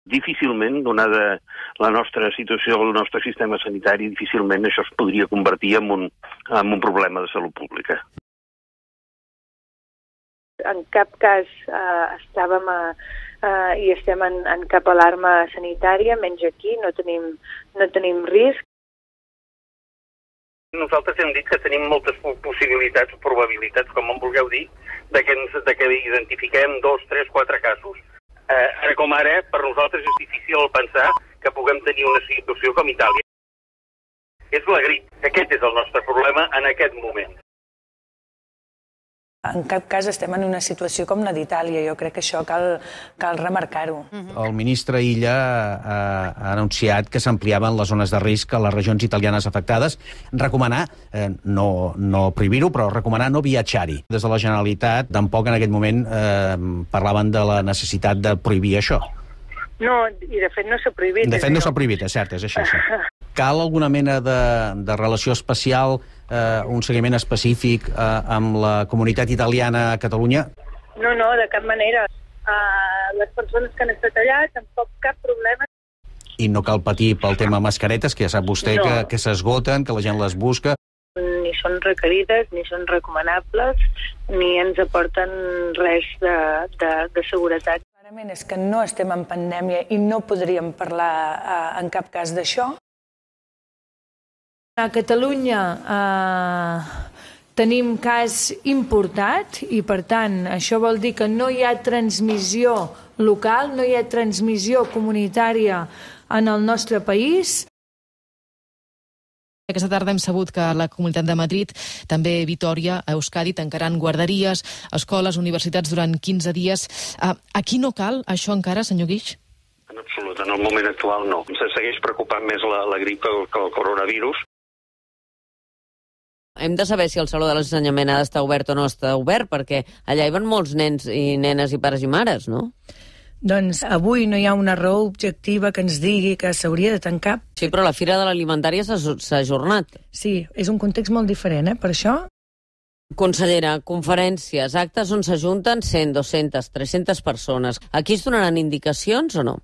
Difícilment, donada la nostra situació, el nostre sistema sanitari, difícilment això es podria convertir en un problema de salut pública. En cap cas estàvem i estem en cap alarma sanitària, menys aquí, no tenim risc. Nosaltres hem dit que tenim moltes possibilitats o probabilitats, com en vulgueu dir, de que identifiquem 2, 3, 4 casos. Ara com ara, per nosaltres és difícil pensar que puguem tenir una situació com Itàlia. És la grip. Aquest és el nostre problema en aquest moment. En cap cas estem en una situació com la d'Itàlia. Jo crec que això cal remarcar-ho. El ministre Illa ha anunciat que s'ampliaven les zones de risc a les regions italianes afectades. Recomanar, no prohibir-ho, però recomanar no viatjar-hi. Des de la Generalitat tampoc en aquell moment parlaven de la necessitat de prohibir això. No, i de fet no s'ha prohibit. De fet no s'ha prohibit, és cert, és així. Cal alguna mena de relació especial, un seguiment específic amb la comunitat italiana a Catalunya? No, de cap manera. Les persones que han estat allà tampoc cap problema. I no cal patir pel tema mascaretes, que ja sap vostè que s'esgoten, que la gent les busca. Ni són requerides, ni són recomanables, ni ens aporten res de seguretat. Clarament és que no estem en pandèmia i no podríem parlar en cap cas d'això. A Catalunya tenim cas importat i, per tant, això vol dir que no hi ha transmissió local, no hi ha transmissió comunitària en el nostre país. Aquesta tarda hem sabut que la Comunitat de Madrid, també Vitòria, a Euskadi, tancaran guarderies, escoles, universitats durant 15 dies. Aquí no cal això encara, senyor Guix? En absolut, en el moment actual no. Se segueix preocupant més la grip que el coronavirus. Hem de saber si el Saló de l'Ensenyament ha d'estar obert o no està obert, perquè allà hi van molts nens i nenes i pares i mares, no? Doncs avui no hi ha una raó objectiva que ens digui que s'hauria de tancar. Sí, però la Fira de l'Alimentària s'ha ajornat. Sí, és un context molt diferent, per això. Consellera, conferències, actes on s'ajunten 100, 200, 300 persones. Aquí es donaran indicacions o no?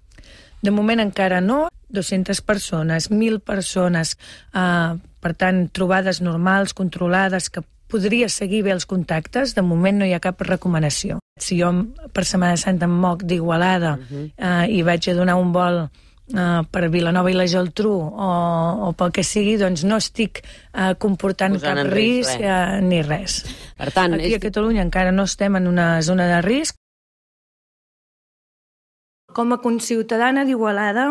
De moment encara no. 200 persones, 1.000 persones, per tant, trobades normals, controlades, que podria seguir bé els contactes. De moment no hi ha cap recomanació. Si jo per Setmana Santa em moc d'Igualada i vaig a donar un vol per Vilanova i la Geltrú o pel que sigui, doncs no estic comportant cap risc ni res. Per tant, aquí a Catalunya encara no estem en una zona de risc. Com a conciutadana d'Igualada,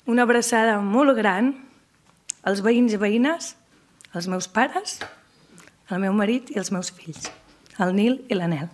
una abraçada molt gran als veïns i veïnes, als meus pares, al meu marit i als meus fills, el Nil i l'Anel.